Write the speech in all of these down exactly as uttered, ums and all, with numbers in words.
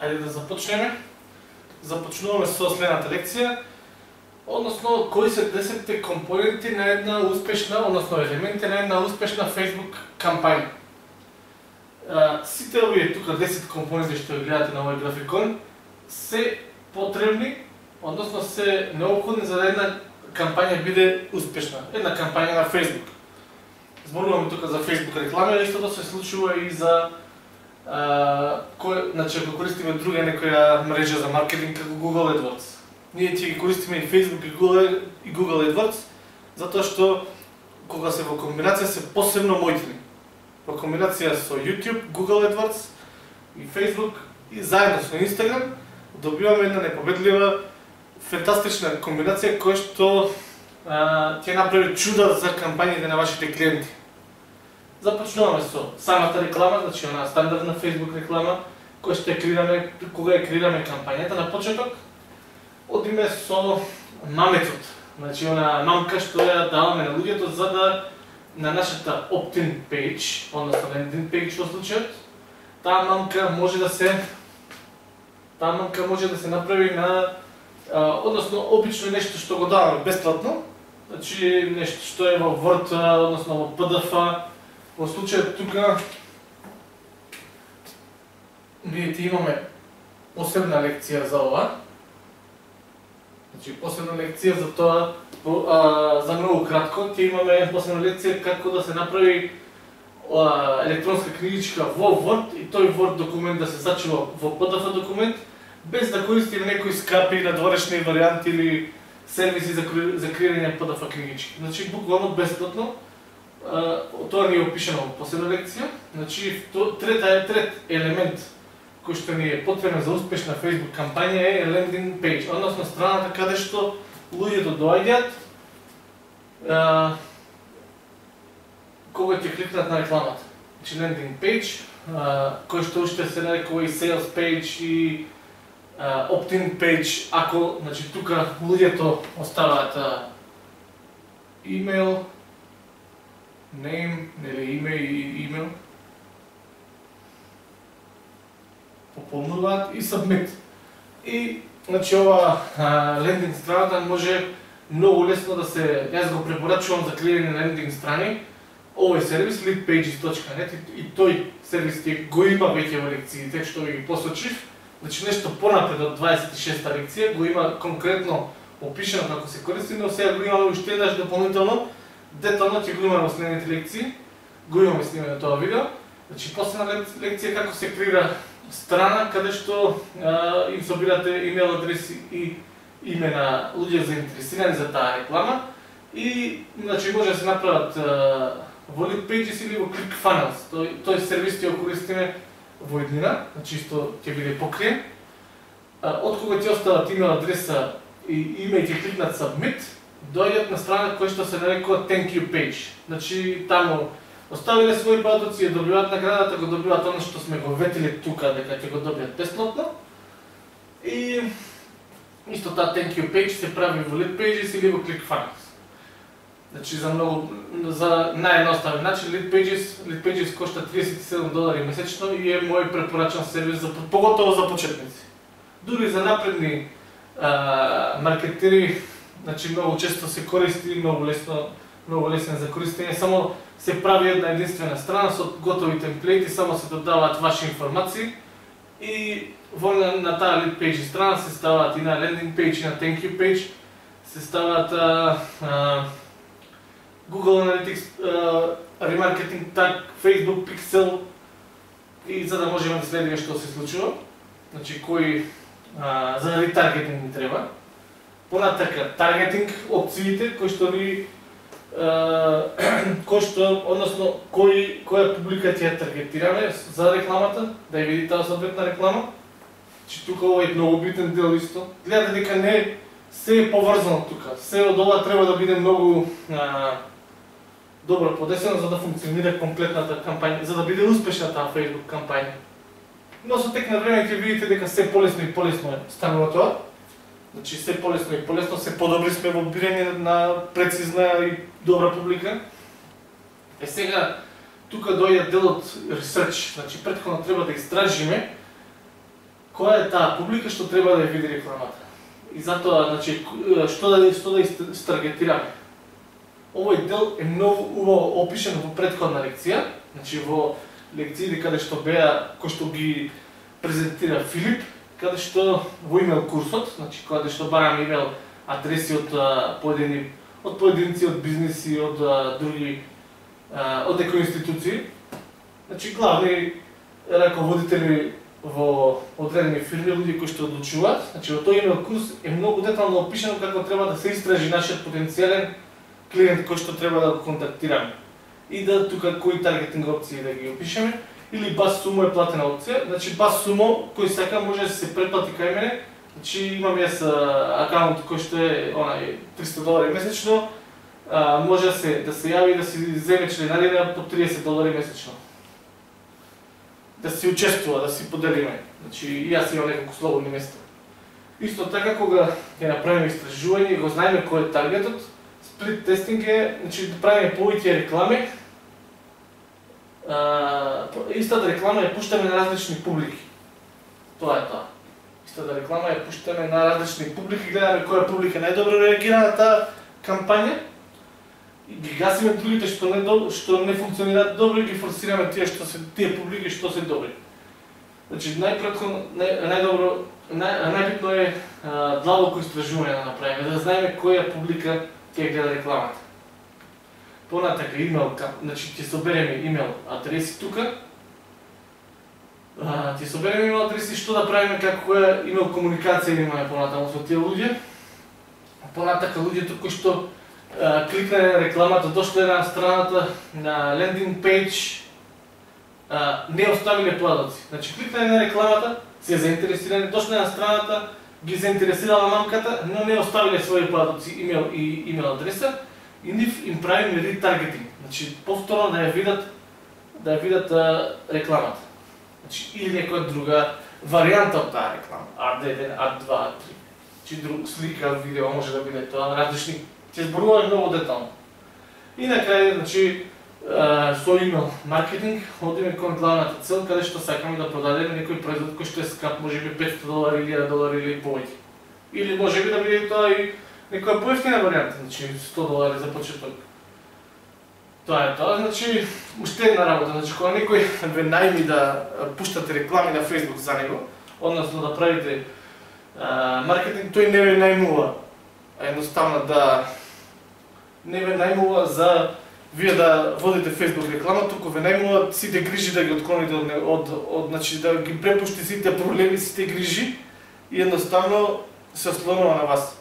Ајде да започнеме. Започнуваме со следната лекција, односно кои се десетте компоненти на една успешна, односно елементи на една успешна Facebook кампања. Сите овие тука десет компоненти што ги гледате на овој графикон се потребни, односно се неопходни за да една кампања биде успешна. Една кампања на Facebook. Зборуваме тука за Facebook реклами, истото се случува и за Uh, кој, значи, ако користиме друга некоја мрежа за маркетинг како Google AdWords. Ние ќе ги користиме и Facebook и Google, и Google AdWords, затоа што кога се во комбинација се посебно моќни. Во комбинација со YouTube, Google AdWords и Facebook и заедно со Instagram добиваме една непобедлива, фантастична комбинација која што uh, ќе направи чуда за кампањите на вашите клиенти. Започнуваме со самата реклама, значи она стандардна Facebook реклама, која што ја креираме кога ја креираме кампањата на почеток. Одиме со маметот, значи она мамка што ја даваме на луѓето за да на нашата opt-in page, односно landing page во случајот, таа мамка може да се таа мамка може да се направи на а, односно обично нешто што го даваме бесплатно, значи нешто што е во Word, односно во P D F. Во случајот тука видите имаме посебна лекција за ова. Значи посебна лекција за тоа, а, за многу кратко ќе имаме посебна лекција како да се направи а, електронска книгичка во Word и тој Word документ да се зачува во P D F документ без да користиме некои скапи надворешни варијанти или сервиси за, за креирање P D F книгички. Значи буквално бесплатно. Uh, тоа ни е опишано во посебна лекција. Значи, трет, трет елемент кој што ни е потребен за успешна Facebook кампања е landing page, односно страната каде што луѓето доаѓаат uh, кога ќе кликнат на рекламата. Значи, landing page, uh, кој што уште се нарекува и sales page и uh, opt-in page, ако, значи, тука луѓето оставаат uh, имейл, name, нели име и имейл, пополнуваат и submit. И значи ова лендинг страната може многу лесно да се, јас го препорачувам за креирање на лендинг страни, овој сервис leadpages точка net и, и тој сервис го има веќе во лекциите што ви ги посочив. Значи нешто понапред од дваесет и шеста лекција го има конкретно опишано како се користи, но сега го имаме уште еднаш дополнително. Детално ќе го имаме во следните лекции, го имаме снимено тоа видео. Значи, последна лекција како се креира страна каде што а, им собирате имейл адреси и име на луѓе заинтересирани за таа реклама и значи може да се направат а, во leadpages или во ClickFunnels. Тој, тој сервис ќе го користиме во еднина, значи исто ќе биде покриен. Од кога ќе остават имейл адреса и име и ќе кликнат submit, доаѓаат на страна која што се нарекува thank you page. Значи таму оставиле своји податоци, добиваат наградата, го добиваат она што сме го ветили тука дека ќе го добијат бесплатно. И исто таа thank you page се прави во leadpages или во ClickFunnels. Значи за многу за наједноставен начин leadpages, leadpages кошта триесет и седум долари месечно и е мој препорачан сервис за поготово за почетници. Дури за напредни а, маркетери. Значи многу често се користи, многу лесно, многу лесен за користење, само се прави една единствена страна со готови темплети, само се додаваат ваши информации и во на, на таа lead page страна се ставаат и на landing page и на thank you page се ставаат а, а, Google Analytics, а, remarketing tag, Facebook pixel и за да можеме да следиме што се случува, значи кои а, за ретаргетинг ни треба. Понатака, таргетинг опциите кои што ни кои што, односно кои која публика ќе ја таргетираме за рекламата, да ја види таа соодветна реклама. Че тука ова е многу битен дел исто. Гледате дека не се е поврзано тука. Се од ова треба да биде многу а, добро подесено за да функционира комплетната кампања, за да биде успешна таа Facebook кампања. Но со тек на време ќе видите дека се полесно и полесно станува тоа. Значи се полесно и полесно, се подобри сме во бирање на прецизна и добра публика. Е сега, тука доаѓа делот research, значи претходно треба да истражиме која е таа публика што треба да ја види рекламата. И затоа, значи, што да што да истаргетираме. Овој дел е многу убаво опишен во претходна лекција, значи во лекциите каде што беа кои што ги презентира Филип, каде што во имейл курсот, значи каде што бараме имейл адреси од поедини од поединци, од бизниси, од а, други од некои институции. Значи главни раководители во одредени фирми, луѓе кои што одлучуваат. Значи во тој имейл курс е многу детално опишано како треба да се истражи нашиот потенцијален клиент кој што треба да го контактираме. И да тука кои таргетинг опции да ги опишеме, или бас сумо е платена опција. Значи бас сумо кој сака може да се претплати кај мене. Значи имам јас акаунт кој што е онај триста долари месечно, а, може да се да се јави и да си земе членарина по триесет долари месечно. Да си учествува, да си поделиме. Значи и јас имам неколку слободни места. Исто така кога ќе направиме истражување и го знаеме кој е таргетот, сплит тестинг е, значи да правиме повеќе реклами. А, истата реклама ја пуштаме на различни публики. Тоа е тоа. Истата реклама ја пуштаме на различни публики, гледаме која публика најдобро реагира на таа кампања и ги гасиме другите што не до, што не функционираат добро и ги форсираме тие што се тие публики што се добри. Значи најпретходно нај, најдобро нај, најбитно е а, длабоко истражување да направиме, да знаеме која публика ќе гледа рекламата. Понатака имейл, значи ќе собереме имейл адреси тука. А, ќе собереме имейл адреси што да правиме, како која имейл комуникација имаме понатаму со тие луѓе. Понатака луѓето кои што а, кликнале на рекламата, дошле на страната на лендинг пејдж, а, не оставиле подаоци. Значи кликнале на рекламата, се заинтересирани, дошле на страната, ги заинтересирала мамката, но не оставиле своји подаоци, имейл и имейл адреса. И нив им правиме ретаргетинг, значи повторно да ја видат да ја видат а, рекламата. Значи или некоја друга варијанта од таа реклама, А Д еден, А два, А три. Значи друг слика, видео може да биде тоа, различни, ќе зборуваме многу детално. И на крај, значи а, со имейл маркетинг одиме кон главната цел каде што сакаме да продадеме некој производ кој што е скап, можеби петстотини долари, илјада долари или повеќе. Или можеби да биде тоа и некоја поевтина варијанта, значи сто долари за почеток. Тоа е тоа, значи уште една работа, значи кога некој ве најми да пуштате реклами на Facebook за него, односно да правите а, маркетинг, тој не ве најмува, едноставно да не ве најмува за вие да водите Facebook реклама, туку ве најмува сите грижи да ги отклоните од, од, од значи да ги препушти сите проблеми, сите грижи и едноставно се ослонува на вас.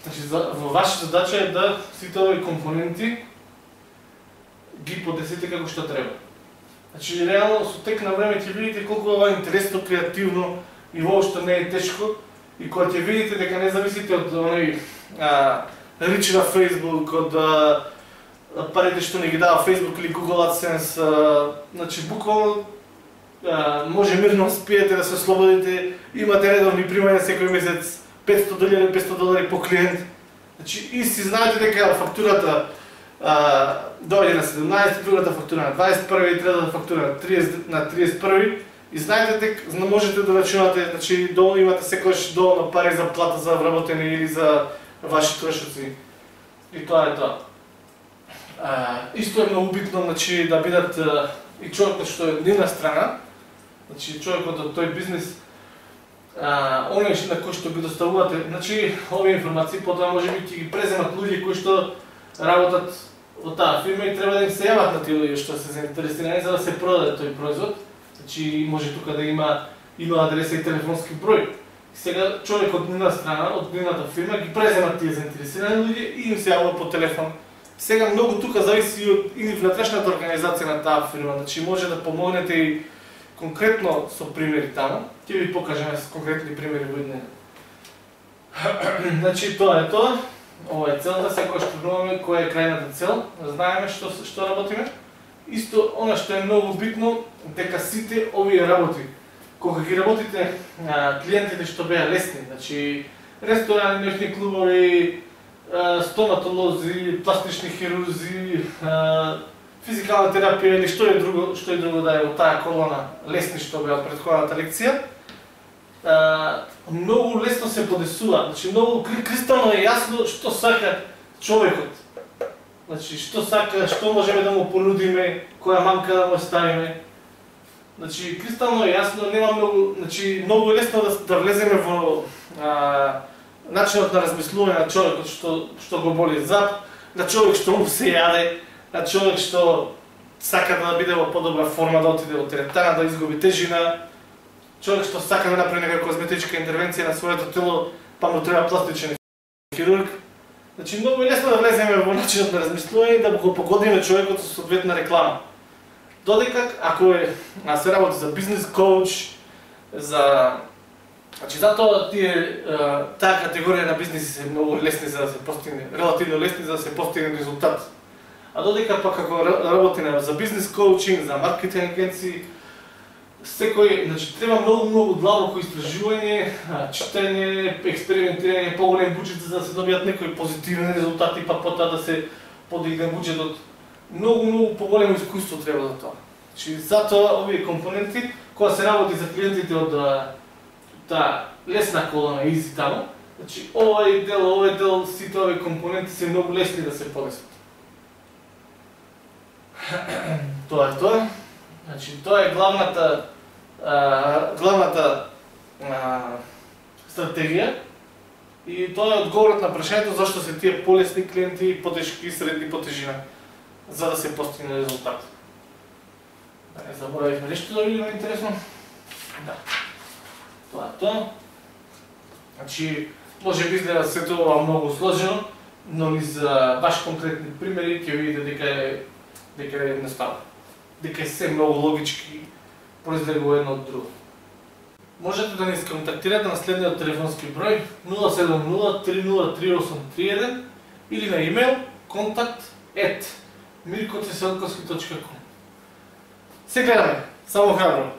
Значи, во ваша задача е да сите овие компоненти ги подесете како што треба. Значи, реално со тек на време ќе видите колку ова е интересно, креативно и воопшто не е тешко. И кога ќе видите дека не зависите од оној рич на Facebook, од а, парите што не ги дава Facebook или Google AdSense, а, значи буквално може мирно спиете да се ослободите, имате редовни примања секој месец, петстотини долари, петстотини долари по клиент. Значи, и си знаете дека фактурата а, дојде на седумнаесет, другата фактура на дваесет и први, третата фактура на триесет, на триесет и први. И знаете дека можете да рачунате, значи доволно имате секогаш доволно пари за плата за вработени или за ваши трошоци. И тоа е тоа. А, исто е многу битно, значи, да бидат а, и човекот што е од нивна страна, значи човекот од тој бизнес, а, оној на кој што ги доставувате, значи овие информации потоа можеби ќе ги преземат луѓе кои што работат во таа фирма и треба да им се јават на тие луѓе што се заинтересирани за да се продаде тој производ. Значи може тука да има имейл адреса и телефонски број. Сега човек од нивна страна, од нивната фирма ги преземат тие заинтересирани луѓе и им се јавува по телефон. Сега многу тука зависи од и внатрешната организација на таа фирма, значи може да помогнете и конкретно со примери таму. Ќе ви покажеме с конкретни примери во еднина. Значи тоа е тоа. Ова е целта, секој што знаеме која е крајната цел, знаеме што што работиме. Исто она што е многу битно дека сите овие работи кога ги работите а, клиентите што беа лесни, значи ресторани, ночни клубови, а, стоматолози, пластични хирурзи, а, физикална терапија или што е друго, што е друго да е во таа колона лесни што беа од претходната лекција. а, многу лесно се подесува. Значи многу кристално е јасно што сака човекот. Значи што сака, што можеме да му понудиме, која мамка да му ставиме. Значи кристално е јасно, нема многу, значи многу е лесно да, да влеземе во а, начинот на размислување на човекот што што го боли зап, на човек што му се јаде, на човек што сака да биде во подобра форма, да отиде во теретана, да изгуби тежина, човек што сака да направи некоја козметичка интервенција на своето тело, па му треба пластичен хирург. Значи многу е лесно да влеземе во начинот на размислување и да го погодиме човекот со соодветна реклама. Додека ако е а се работи за бизнес коуч, за значи затоа тие таа категорија на бизнеси се многу лесни за да се постигне, релативно лесни за да се постигне резултат. А додека пак ако работи за бизнес коучинг, за маркетинг агенции, секој, значи треба многу многу длабоко истражување, читање, експериментирање, поголем буџет за да се добијат некои позитивни резултати, па потоа да се подигне буџетот. Многу многу поголемо искуство треба за тоа. Значи затоа овие компоненти кога се работи за клиентите од таа лесна колона изи таму, значи овој дел, овој дел, сите овие компоненти се многу лесни да се подесат. Тоа е тоа. Значи тоа е главната а, главната а, стратегија и тоа е одговорот на прашањето зашто се тие полесни клиенти, потешки, средни по тежина, за да се постигне резултат. Да не заборавивме нешто да видиме интересно? Да. Тоа е тоа. Значи, може би изгледа се тоа многу сложено, но и за баш конкретни примери ќе видите дека е дека е едноставно. Дека е се многу логички произлегува едно од друго. Можете да ни сконтактирате на следниот телефонски број нула седум нула три нула три осум три еден или на имейл контакт ет мирко теселковски точка ком. Се гледаме, само храбро!